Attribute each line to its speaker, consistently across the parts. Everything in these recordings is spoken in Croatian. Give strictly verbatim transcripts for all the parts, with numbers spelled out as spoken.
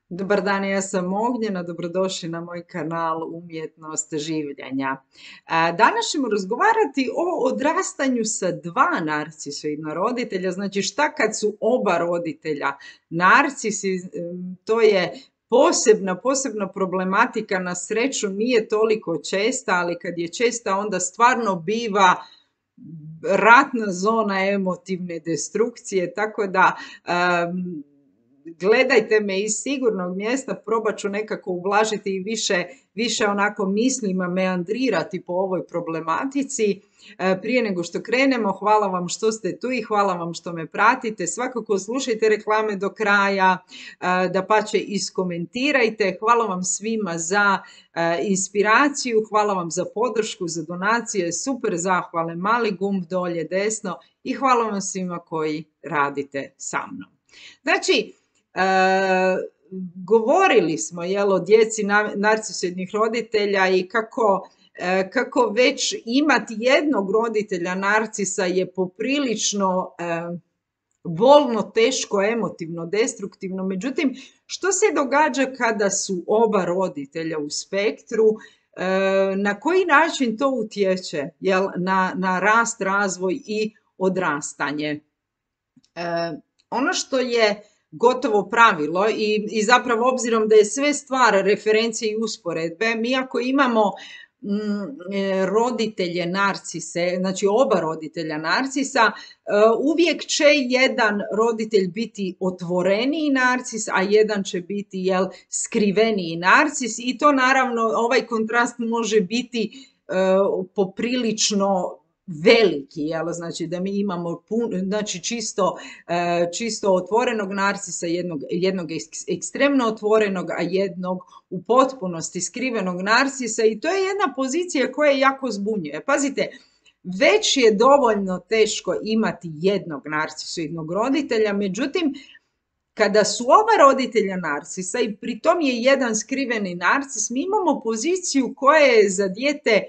Speaker 1: Dobar dan, ja sam Ognjena, dobrodošli na moj kanal Umjetnost življenja. A, Danas ćemo razgovarati o odrastanju sa dva narcisoidna roditelja, znači šta kad su oba roditelja narcisi, to je posebna, posebna problematika, na sreću nije toliko česta, ali kad je česta onda stvarno biva ratna zona emotivne destrukcije, tako da um, gledajte me iz sigurnog mjesta, probat ću nekako ublažiti i više, više onako mislima meandrirati po ovoj problematici. Prije nego što krenemo, hvala vam što ste tu i hvala vam što me pratite. Svakako slušajte reklame do kraja, dapače iskomentirajte. Hvala vam svima za inspiraciju, hvala vam za podršku, za donacije, super zahvale, mali gumb dolje desno i hvala vam svima koji radite sa mnom. Znači, E, govorili smo jel, o djeci narcisoidnih roditelja i kako, e, kako već imati jednog roditelja narcisa je poprilično e, bolno, teško, emotivno, destruktivno. Međutim, što se događa kada su oba roditelja u spektru? E, na koji način to utječe jel, na, na rast, razvoj i odrastanje? E, ono što je gotovo pravilo i, i zapravo obzirom da je sve stvar referencije i usporedbe, mi ako imamo mm, roditelje narcise, znači oba roditelja narcisa, uvijek će jedan roditelj biti otvoreniji narcis, a jedan će biti jel, skriveniji narcis i to naravno ovaj kontrast može biti uh, poprilično veliki, jel? Znači da mi imamo pun, znači čisto, čisto otvorenog narcisa, jednog, jednog ekstremno otvorenog, a jednog u potpunosti skrivenog narcisa i to je jedna pozicija koja jako zbunjuje. Pazite, već je dovoljno teško imati jednog narcisoidnog roditelja, međutim, kada su oba roditelja narcisa i pritom je jedan skriveni narcis, mi imamo poziciju koja je za dijete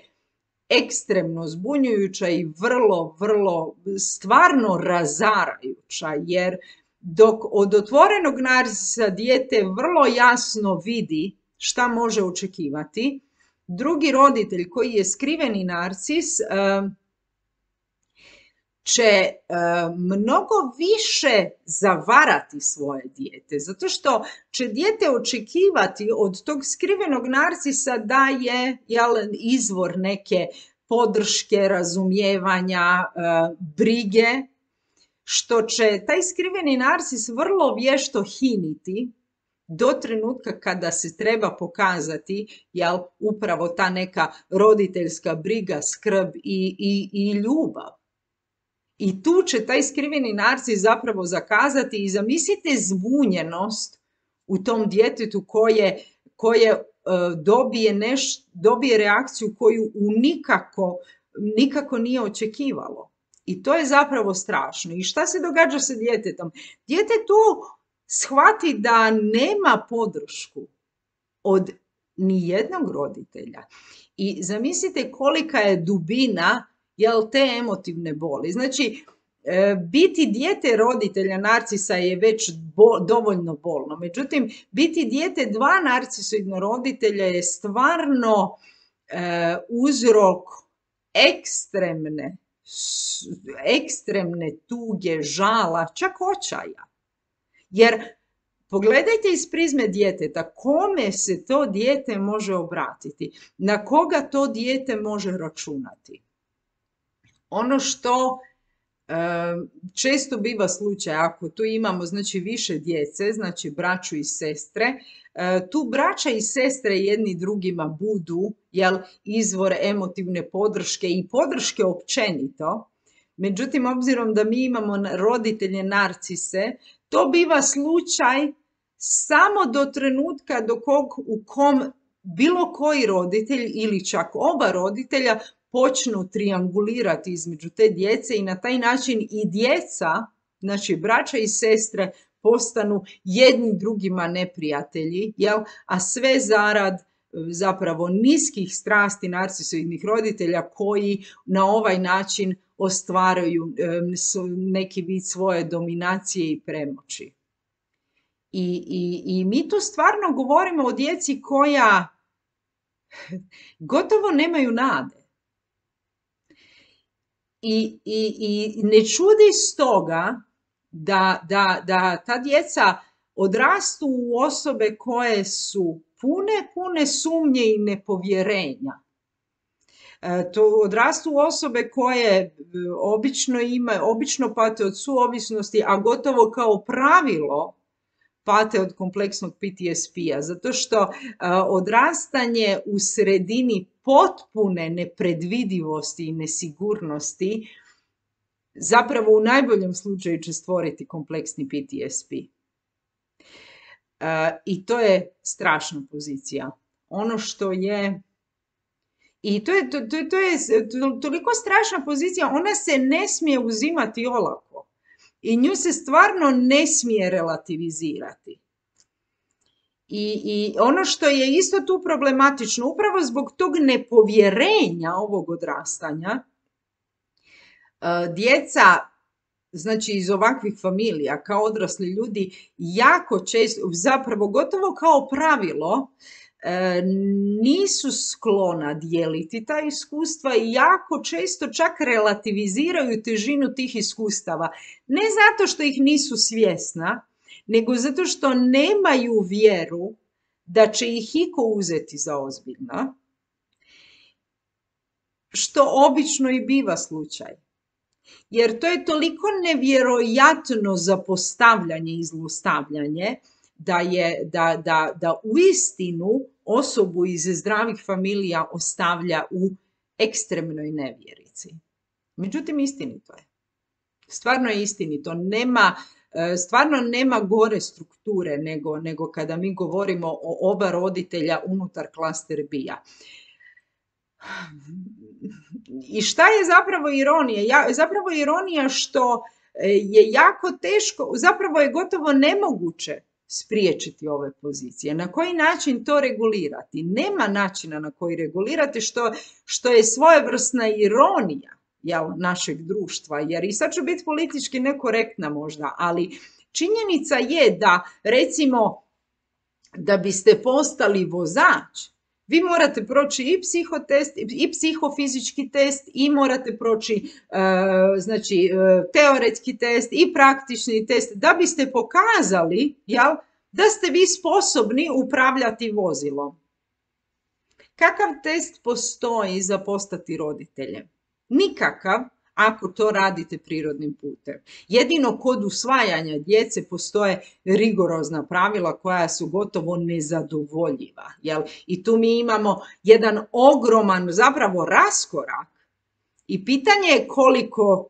Speaker 1: ekstremno zbunjujuća i vrlo, vrlo stvarno razarajuća, jer dok od otvorenog narcisa dijete vrlo jasno vidi šta može očekivati, drugi roditelj koji je skriveni narcis će mnogo više zavarati svoje dijete, zato što će dijete očekivati od tog skrivenog narcisa da je jel, izvor neke podrške, razumijevanja, brige, što će taj skriveni narcis vrlo vješto hiniti do trenutka kada se treba pokazati jel, upravo ta neka roditeljska briga, skrb i, i, i ljubav. I tu će taj skriveni narcis zapravo zakazati i zamislite zbunjenost u tom djetetu koje, koje uh, dobije, neš, dobije reakciju koju u nikako, nikako nije očekivalo. I to je zapravo strašno. I šta se događa sa djetetom? Dijete tu shvati da nema podršku od nijednog roditelja. I zamislite kolika je dubina jel, te emotivne boli. Znači, e, biti dijete roditelja narcisa je već bo, dovoljno bolno. Međutim, biti dijete dva narcisoidna roditelja je stvarno e, uzrok ekstremne, ekstremne tuge, žala, čak očaja. Jer pogledajte iz prizme djeteta, kome se to dijete može obratiti, na koga to dijete može računati. Ono što e, često biva slučaj, ako tu imamo znači, više djece, znači braću i sestre, e, tu braća i sestre jedni drugima budu jel, izvor emotivne podrške i podrške općenito. Međutim, obzirom da mi imamo roditelje narcise, to biva slučaj samo do trenutka do kog, u kom bilo koji roditelj ili čak oba roditelja počnu triangulirati između te djece i na taj način i djeca, znači braća i sestre, postanu jedni drugima neprijatelji, jel? A sve zarad zapravo niskih strasti narcisoidnih roditelja koji na ovaj način ostvaruju neki vid svoje dominacije i premoći. I, i, I mi tu stvarno govorimo o djeci koja gotovo nemaju nade. I, i, i ne čudi stoga da, da, da ta djeca odrastu u osobe koje su pune, pune sumnje i nepovjerenja. E, to odrastu u osobe koje obično imaju, obično pate od suovisnosti, a gotovo kao pravilo pate od kompleksnog P T S P-a, zato što uh, odrastanje u sredini potpune nepredvidivosti i nesigurnosti zapravo u najboljem slučaju će stvoriti kompleksni P T S P. Uh, I to je strašna pozicija. Ono što je I to je, to, to, to je toliko strašna pozicija, ona se ne smije uzimati olako. I nju se stvarno ne smije relativizirati. I, I ono što je isto tu problematično, upravo zbog tog nepovjerenja ovog odrastanja, djeca, znači iz ovakvih familija, kao odrasli ljudi, jako često, zapravo gotovo kao pravilo, nisu sklona dijeliti ta iskustva i jako često čak relativiziraju težinu tih iskustava. Ne zato što ih nisu svjesna, nego zato što nemaju vjeru da će ih iko uzeti za ozbiljno, što obično i biva slučaj. Jer to je toliko nevjerojatno zapostavljanje i zlostavljanje, da je, da, da, da uistinu osobu iz zdravih familija ostavlja u ekstremnoj nevjerici. Međutim, istinito je. Stvarno je istinito. Nema, stvarno nema gore strukture nego, nego kada mi govorimo o oba roditelja unutar klaster B-a. I šta je zapravo ironija? Ja, zapravo je ironija što je jako teško, zapravo je gotovo nemoguće spriječiti ove pozicije. Na koji način to regulirati? Nema načina na koji regulirati, što, što je svojevrsna ironija, jel, našeg društva. Jer i sad ću biti politički nekorektna možda, ali činjenica je da, recimo, da biste postali vozač, vi morate proći i psihotest, i psihofizički test, i morate proći uh, znači, uh, teoretski test i praktični test, da biste pokazali, jel, da ste vi sposobni upravljati vozilom. Kakav test postoji za postati roditeljem? Nikakav, ako to radite prirodnim putem. Jedino kod usvajanja djece postoje rigorozna pravila koja su gotovo nezadovoljiva. Jel? I tu mi imamo jedan ogroman zapravo raskorak i pitanje je koliko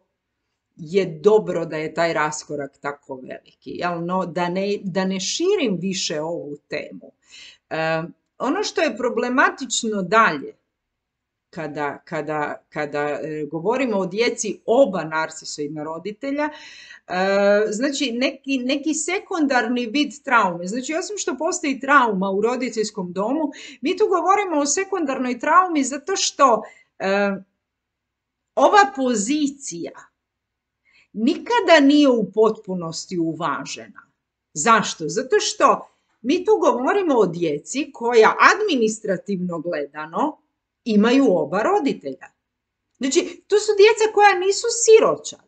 Speaker 1: je dobro da je taj raskorak tako veliki. Jel? No, da, ne, da ne širim više ovu temu. E, ono što je problematično dalje, Kada, kada, kada e, govorimo o djeci oba narcisoidna roditelja, e, znači neki, neki sekundarni vid traume. Znači osim što postoji trauma u roditeljskom domu, mi tu govorimo o sekundarnoj traumi zato što e, ova pozicija nikada nije u potpunosti uvažena. Zašto? Zato što mi tu govorimo o djeci koja administrativno gledano imaju oba roditelja. Znači, to su djeca koja nisu siročad.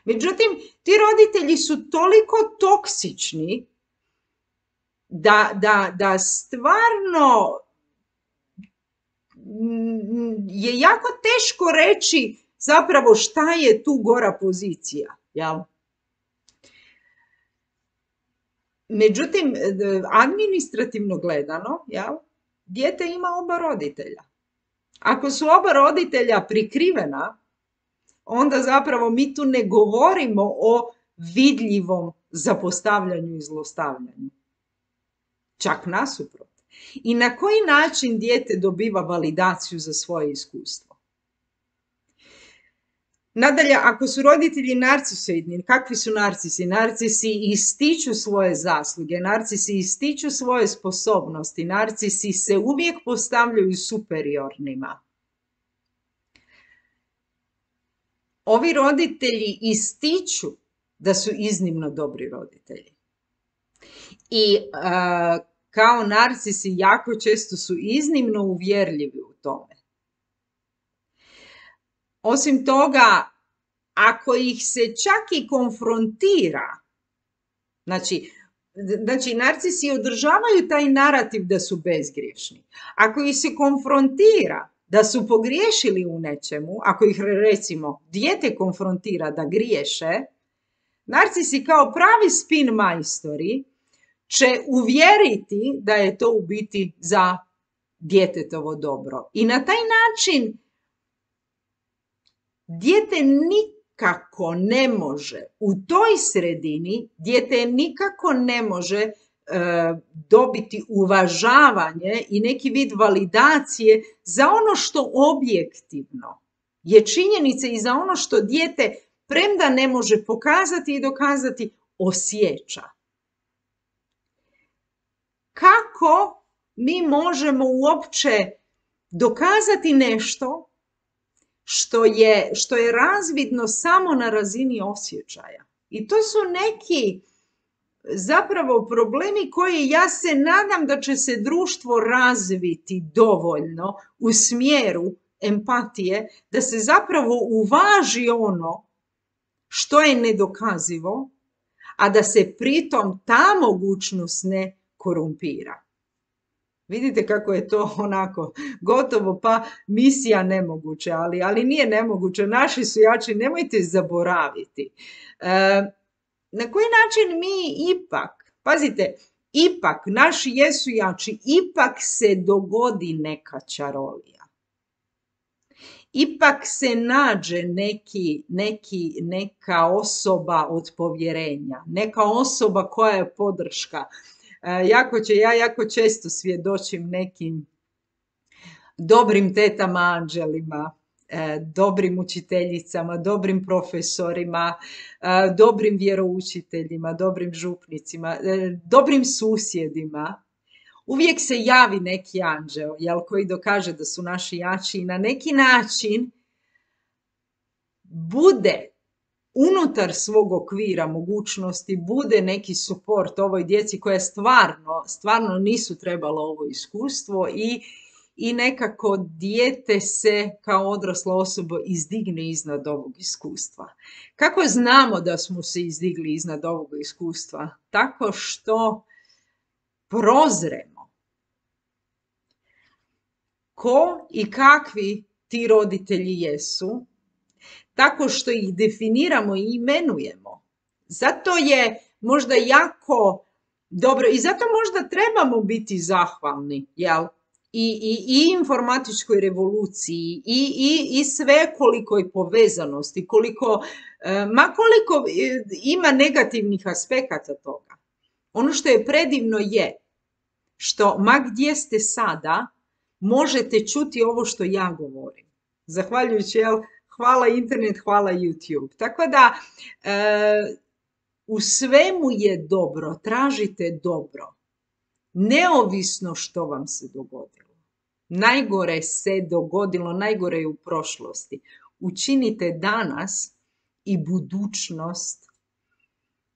Speaker 1: Međutim, ti roditelji su toliko toksični da, da, da stvarno je jako teško reći zapravo šta je tu gora pozicija. Jel? Međutim, administrativno gledano, jel, dijete ima oba roditelja. Ako su oba roditelja prikrivena, onda zapravo mi tu ne govorimo o vidljivom zapostavljanju i zlostavljanju. Čak nasuprot. I na koji način dijete dobiva validaciju za svoje iskustvo? Nadalje, ako su roditelji narcisoidni, kakvi su narcisi? Narcisi ističu svoje zasluge, narcisi ističu svoje sposobnosti, narcisi se uvijek postavljaju superiornima. Ovi roditelji ističu da su iznimno dobri roditelji. I a, kao narcisi jako često su iznimno uvjerljivi u tome. Osim toga, ako ih se čak i konfrontira, znači, znači narcisi održavaju taj narativ da su bezgriješni. Ako ih se konfrontira da su pogriješili u nečemu, ako ih recimo dijete konfrontira da griješe, narcisi kao pravi spin majstori će uvjeriti da je to u biti za djetetovo dobro. I na taj način dijete nikako ne može u toj sredini, dijete nikako ne može e, dobiti uvažavanje i neki vid validacije za ono što objektivno je činjenica i za ono što dijete, premda ne može pokazati i dokazati, osjeća. Kako mi možemo uopće dokazati nešto što je, što je razvidno samo na razini osjećaja? I to su neki zapravo problemi koji, ja se nadam da će se društvo razviti dovoljno u smjeru empatije, da se zapravo uvaži ono što je nedokazivo, a da se pritom ta mogućnost ne korumpira. Vidite kako je to onako gotovo pa misija nemoguće, ali, ali nije nemoguće. Naši su jači, nemojte zaboraviti. E, na koji način mi ipak, pazite, ipak naši jesu jači, ipak se dogodi neka čarolija. Ipak se nađe neki, neki, neka osoba od povjerenja, neka osoba koja je podrška. E, jako će, ja jako često svjedočim nekim dobrim tetama anđelima, e, dobrim učiteljicama, dobrim profesorima, e, dobrim vjeroučiteljima, dobrim župnicima, e, dobrim susjedima. Uvijek se javi neki anđel, jel, koji dokaže da su naši jači i na neki način bude unutar svog okvira mogućnosti, bude neki suport ovoj djeci koja stvarno, stvarno nisu trebala ovo iskustvo i, i nekako dijete se kao odrasla osoba izdigne iznad ovog iskustva. Kako znamo da smo se izdigli iznad ovog iskustva? Tako što prozremo ko i kakvi ti roditelji jesu, tako što ih definiramo i imenujemo. Zato je možda jako dobro i zato možda trebamo biti zahvalni, jel? I, i, i informatičkoj revoluciji i, i, i svekolikoj povezanosti, koliko, ma koliko ima negativnih aspekata toga. Ono što je predivno je što ma gdje ste sada, možete čuti ovo što ja govorim. Zahvaljujući, jel, hvala internet, hvala YouTube. Tako da e, u svemu je dobro, tražite dobro. Neovisno što vam se dogodilo. Najgore se dogodilo, najgore je u prošlosti. Učinite danas i budućnost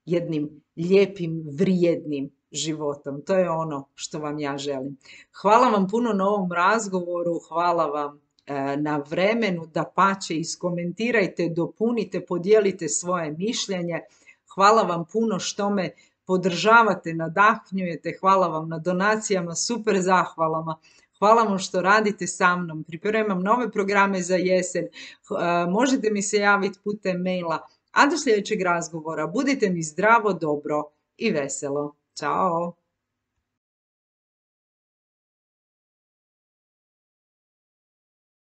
Speaker 1: jednim lijepim, vrijednim životom. To je ono što vam ja želim. Hvala vam puno na ovom razgovoru, hvala vam e, na vremenu, dapače, iskomentirajte, dopunite, podijelite svoje mišljenje. Hvala vam puno što me podržavate, nadahnjujete, hvala vam na donacijama, super zahvalama. Hvala vam što radite sa mnom, pripremam nove programe za jesen, e, možete mi se javiti putem maila, a do sljedećeg razgovora budite mi zdravo, dobro i veselo. Ćao!